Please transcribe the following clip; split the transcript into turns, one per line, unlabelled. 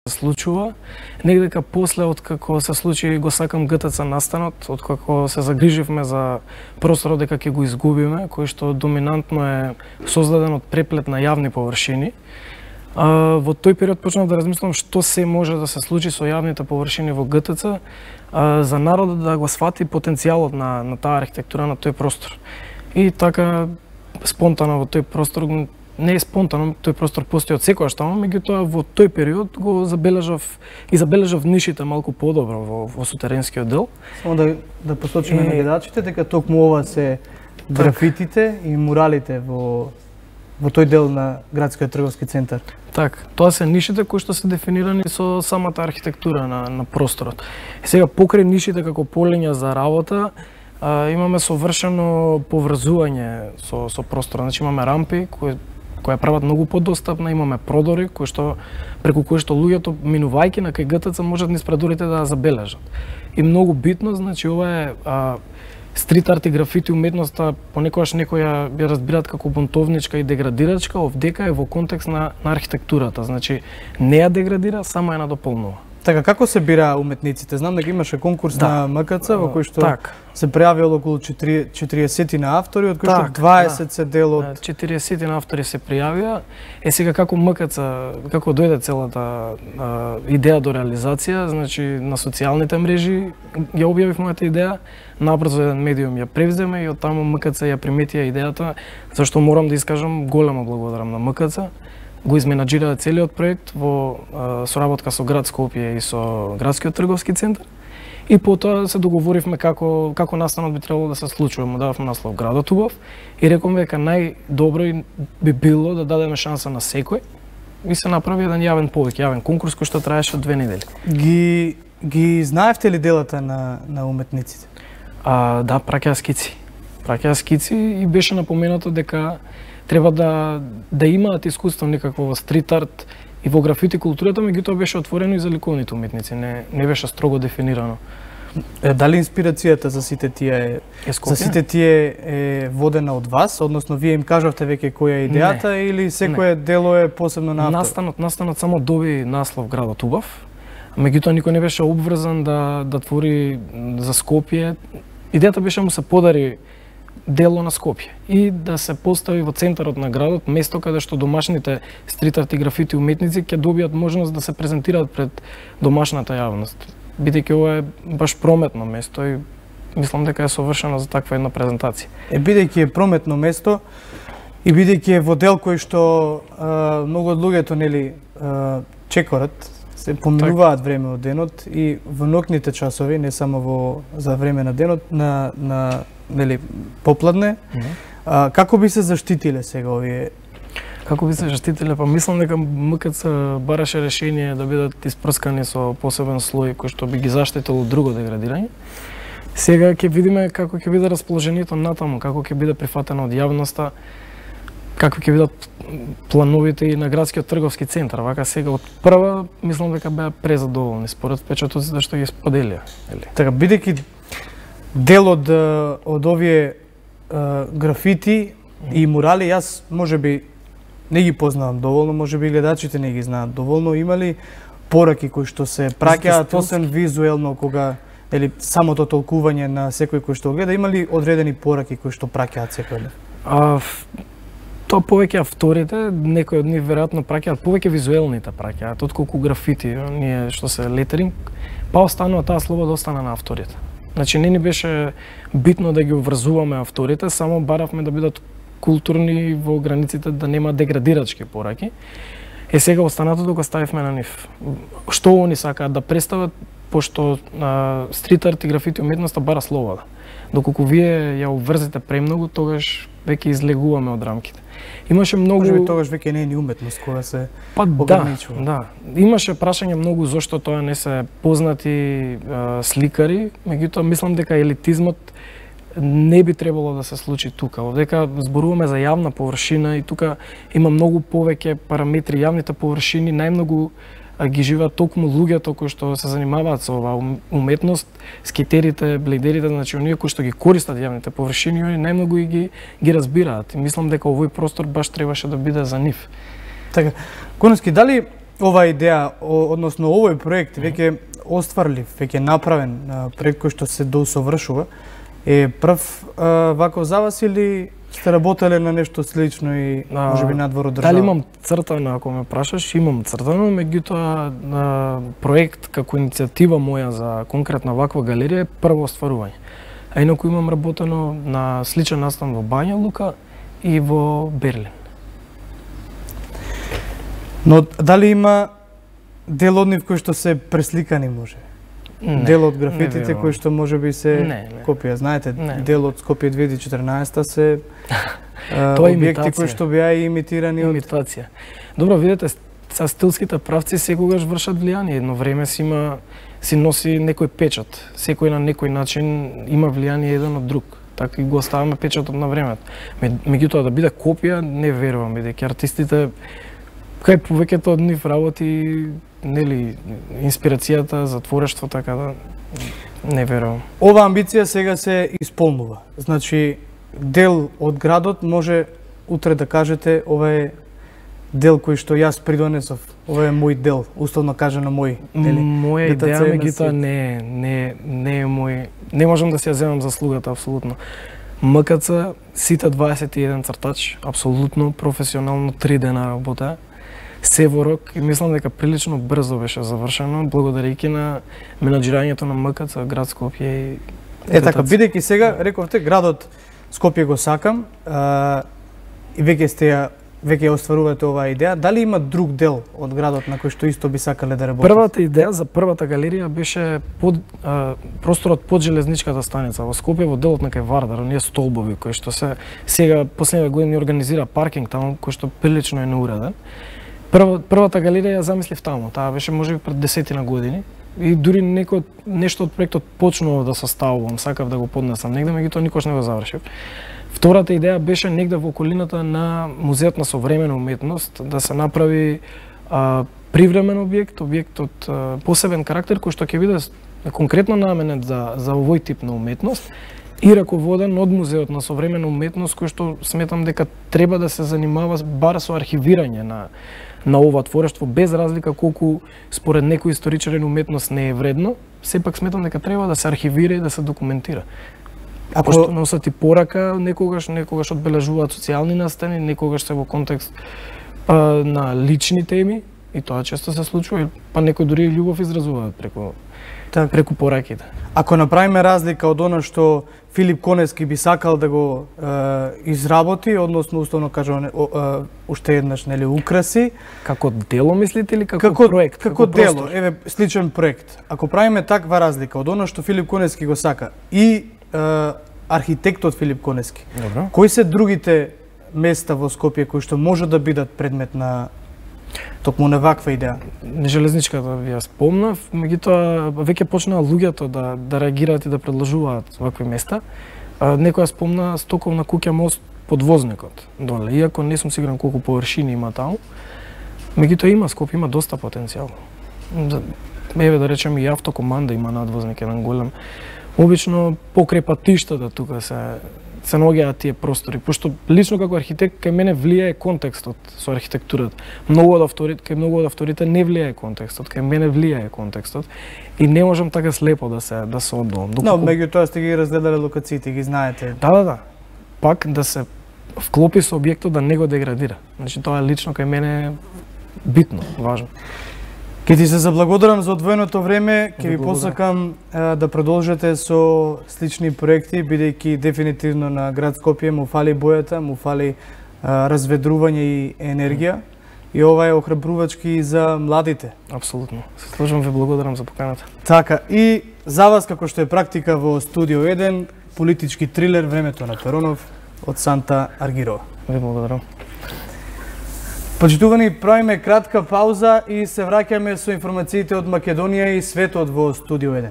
случува, негдека после откако се случи Го сакам ГТЦ настанот, откако се загриживме за просторот дека ќе го изгубиме, кој што доминантно е создаден од преплет на јавни површини. Во тој период почнав да размислам што се може да се случи со јавните површини во ГТЦ, за народот да го свати потенцијалот на таа архитектура на тој простор. И така спонтано во тој простор, не е спонтано, тој простор постои од секојаш таму, меѓутоа во тој период го забележав нишите малку подобро во сутеренскиот дел.
Само да посочиме на гледачите дека токму ова се графитите и муралите во тој дел на градскиот трговски центар.
Така, тоа се нишите кои што се дефинирани со самата архитектура на просторот. И сега покрај нишите како полиња за работа, имаме совршено поврзување со просторот. Значи имаме рампи кои прават многу подостапна, имаме продори преку кои што луѓето минувајќи на кај ГТЦ можат низ предорите да забележат. И многу битно, значи ова е стрит арт и графити уметноста, понекогаш некои ја разбираат како бунтовничка и деградирачка, овдека е во контекст на архитектурата. Значи не ја деградира, само ја надополнува.
Така, како се бира уметниците? Знам дека имаше конкурс на МКЦ во кој што се прејавило околу 40 на автори, од кои што 20 се дел од
40 на автори се пријавија. Сега како МКЦ, како дојде целата идеја до реализација, значи на социјалните мрежи ја објавив мојата идеја, набрзо еден медиум ја превземе и од таму МКЦ ја приметија идејата, зашто морам да искажам големо благодарам на МКЦ. Го изменаџираа целиот проект во соработка со град Скопје и со градскиот трговски центар. И потоа се договоривме како настанот би требало да се случува. Му дававме наслов Градот убав и рековме дека најдобро би било да дадеме шанса на секој и се направи еден јавен повик, јавен конкурс кој што траеше 2 недели.
Ги знаевте ли делата на уметниците?
Да, праќаа скици. Праќаа скици и беше напоменато дека треба да имаат искуство некакво во стрит арт и во графити културата, меѓутоа беше отворено и за ликовните уметници, не беше строго дефинирано.
Дали инспирацијата за сите тие е водена од вас, односно вие им кажавте веќе која е идејата или секое дело е посебно на автор?
Настанот само доби наслов Градот убав, меѓутоа никој не беше обврзан да твори за Скопје. Идејата беше му се подари дело на Скопје и да се постави во центарот на градот место каде што домашните стрит арт и графити уметници ќе добијат можност да се презентираат пред домашната јавност. Бидејќи ова е баш прометно место и мислам дека е совршено за таква една презентација.
Бидејќи е прометно место и бидејќи е во дел кој што многу од луѓето чекорат, се поминуваат време од денот и во ноќните часови, не само за време на денот, на попладне. Како би се заштитиле сега овие?
Како би се заштитиле? Па мислам дека МКЦ бараше решение да бидат испрскани со посебен слој кој што би ги заштитил од друго деградирање. Сега ќе видиме како ќе биде расположението натаму, како ќе биде прифатено од јавноста, како ќе бидат плановите и на градскиот трговски центар. Вака сега од прва мислам дека беа презадоволни според впечатоците што ги споделија.
Така, бидејќи дел од овие графити и мурали, јас можеби не ги познавам доволно, можеби гледачите не ги знаат доволно. Има ли пораки кои што се праќаат освен визуелно кога самото толкување на секој кој што гледа, има ли одредени пораки кои што праќаат секој?
Тоа повеќе авторите, некои од нив веројатно праќаат повеќе визуелните праќаат отколку графити, ние што се летеринг, па останува таа слобода остана на авторите. Значи не ни беше битно да ги обврзуваме авторите, само баравме да бидат културни во границите да нема деградирачки пораки. Сега останатото го ставивме на нив. Што они сакаат да представат, пошто стрит арт и графити уметноста бара слобода. Доколку вие ја обврзите премногу, тогаш веќе излегуваме од рамките. Имаше многу
тогаш веќе не е ни уметност која се
ограничува. Да. Имаше прашање многу зошто тоа не се познати сликари, меѓутоа мислам дека елитизмот не би требало да се случи тука. Овдека зборуваме за јавна површина и тука има многу повеќе параметри. Јавните површини најмногу ги живеат токму луѓето кои што се занимаваат со оваа уметност, скетерите, блейдерите, значи оние кои што ги користат јавните површини, они најмногу ги разбираат. И мислам дека овој простор баш требаше да биде за нив.
Така, Коновски, дали оваа идеја, односно овој проект веќе остварлив, веќе направен проект кој што се доусовршува, е прв вако за вас или сте работеле на нешто слично и можеби надвор од држава?
Дали имам цртано, ако ме прашаш, имам цртано, меѓутоа проект како иницијатива моја за конкретна ваква галерија е прво остварување. А инаку имам работено на сличен настан во Бања Лука и во Берлин.
Но дали има дел од нив кои што се пресликани може? Дел од графитите кои што можеби се копија, знаете, дел од Скопје 2014 се објекти кои што беа имитирани од
имитација. Добро, видете, са стилските правци секогаш вршат влијание, едно време си носи некој печат. Секој на некој начин има влијание еден од друг. Така и го оставаме печатот на времето. Меѓутоа да биде копија, не верувам, бидејќи артистите кај повеќето од нив работи, нели, инспирацијата за творештво, така да не верувам.
Ова амбиција сега се исполнува. Значи, дел од градот може утре да кажете ова е дел кој што јас придонесов, ова е мој дел, условно кажано мој, нели?
Моја идеја, меѓутоа не е мој, не можам да си ја земам заслугата апсолутно. МКЦ, сите 21 цртач, апсолутно професионално 3 дена работа, се во рок и мислам дека прилично брзо беше завршено, благодарејќи на менаџирањето на МКЦ, град Скопје и
така, бидејќи сега рековте градот Скопје го сакам и веќе остварувате оваа идеја, дали има друг дел од градот на кој што исто би сакале да работите?
Првата идеја за првата галерија беше просторот под железничката станица во Скопје, во делот на кај Вардар, оние столбови кои што се сега последните години организира паркинг таму, кој што прилично е неуреден. Првата галерија ја замислив таму, таа беше можеби пред 10 години и дури нешто од проектот почнува да составувам, сакав да го поднесам негде, меѓутоа никош не го завршив. Втората идеја беше негде во околината на Музеот на современа уметност да се направи привремен објект од посебен карактер кој што ќе биде конкретно наменет за овој тип на уметност и раководен од Музеот на современа уметност кој што сметам дека треба да се занимава бар со архивирање на ова творештво, без разлика колку според некои историчари уметност не е вредно, сепак сметам дека треба да се архивира и да се документира. Ако што носат и порака, некогаш одбележуваат социјални настани, некогаш се во контекст на лични теми и тоа често се случува, па некои дури љубов изразуваат преку пораките.
Ако направиме разлика од она што Филип Конески би сакал да го изработи, односно условно кажано уште еднаш, нели, украси,
како дело мислите или како проект?
Како дело, еве сличен проект. Ако правиме таква разлика од она што Филип Конески го сака и архитектот Филип Конески.
Добро.
Кои се другите места во Скопје кои што може да бидат предмет на токму на ваква идеја?
Железничката ви ја спомнав, меѓутоа веќе почнаа луѓето да реагираат и да предложуваат вакви места. Некоја спомна стоковна куќа мост под возникот доле, иако не сум сигурен колку површини има таму. Меѓутоа има Скопје, има доста потенцијал. Еве да речем и автокоманда има надвозник еден голем. Обично покрај патиштата тука се наоѓаат тие простори, пошто лично како архитект кај мене влијае контекстот со архитектурата. Кај многу од авторите не влијае контекстот, кај мене влијае контекстот и не можам така слепо да се оддувам.
Но меѓутоа сте ги разгледале локациите, ги знаете.
Да. Пак да се вклопи со објектот да не го деградира. Значи тоа лично кај мене е битно, важно.
Ке ти се заблагодарам за одвоеното време, ке ви посакам да продолжите со слични проекти, бидејќи дефинитивно на град Скопје му фали бојата, му фали разведрување и енергија. И ова е охрабрувачки и за младите.
Апсолутно. Се служам, ви благодарам за поканата.
Така, и за вас, како што е практика во Студио 1, политички трилер Времето на Перонов од Санта Аргирова.
Ви благодарам.
Почитувани, правиме кратка пауза и се враќаме со информациите од Македонија и светот во Студио 1.